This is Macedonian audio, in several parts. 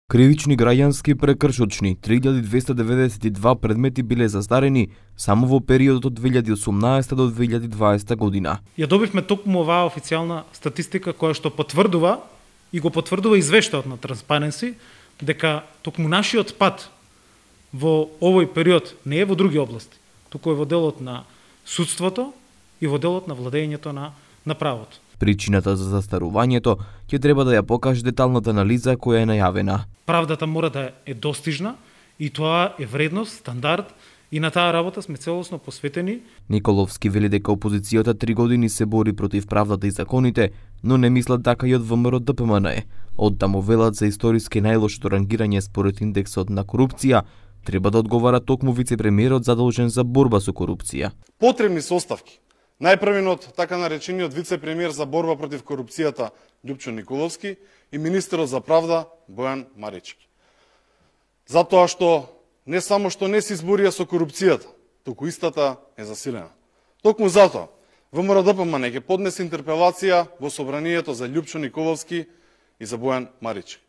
Кривични граѓански прекршочни 3292 предмети биле застарени само во периодот од 2018 до 2020 година. Ја добивме токму оваа официјална статистика која што потврдува и го потврдува извештајот на Transparency дека токму нашиот пат во овој период не е во други области, туку е во делот на судството и во делот на владењето на правото. Причината за застарувањето ќе треба да ја покаже деталната анализа која е најавена. Правдата мора да е достижна и тоа е вредност, стандард и на таа работа сме целосно посветени. Николовски вели дека опозицијата 3 години се бори против правдата и законите, но не мислат така и од ВМРО ДПМН. Оттаму велат за историски најлошото рангирање според индексот на корупција треба да одговара токму вице-премиерот задолжен за борба со корупција. Потребни се оставки. Најпрвиот така наречениот вице-премиер за борба против корупцијата Љупчо Николовски и министерот за правда Бојан Марички. Затоа што не само што не се изборија со корупцијата, туку истата е засилена. Токму затоа ВМРО ДПМН ќе поднесе интерпелација во собранието за Љупчо Николовски и за Бојан Марички.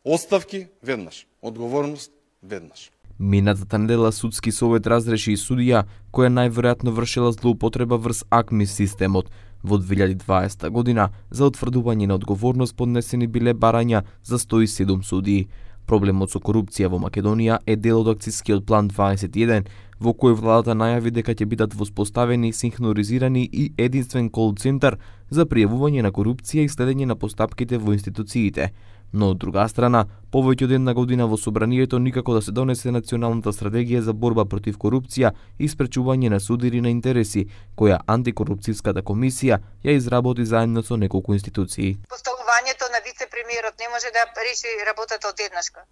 Оставки веднаш, одговорност веднаш. Минатата недела судски совет разреши и судија која најверојатно вршила злоупотреба врз АКМИ системот. Во 2020 година за утврдување на одговорност поднесени биле барања за 107 судии. Проблемот со корупција во Македонија е дел од акцискиот план 21, во кој владата најави дека ќе бидат воспоставени синхронизирани и единствен кол центар за пријавување на корупција и следење на постапките во институциите. Но од друга страна, повеќе од една година во собранието никако да се донесе националната стратегија за борба против корупција и спречување на судири на интереси, која антикорупцијската комисија ја изработи заедно со неколку институции. Поставувањето на вице-премиерот не може да реши работата одеднашка.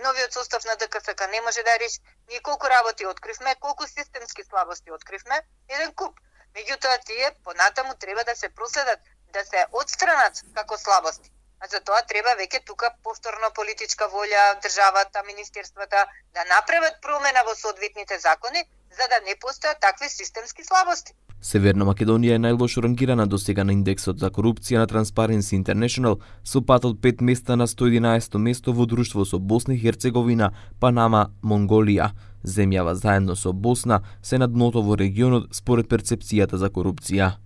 Новиот состав на ДКСК не може да реши. Ние колку работи откривме, колку системски слабости откривме, еден куп. Меѓутоа тие понатаму треба да се проследат, да се отстранат како слабости. А за тоа треба веќе тука повторно политичка волја, државата, министерствата да направат промена во соодветните закони, за да не постојат такви системски слабости. Северна Македонија е најлошо рангирана досега на индексот за корупција на Transparency International со пат од 5 места на 111 место во друштво со Босна и Херцеговина, Панама, Монголија. Земјава заедно со Босна се на дното во регионот според перцепцијата за корупција.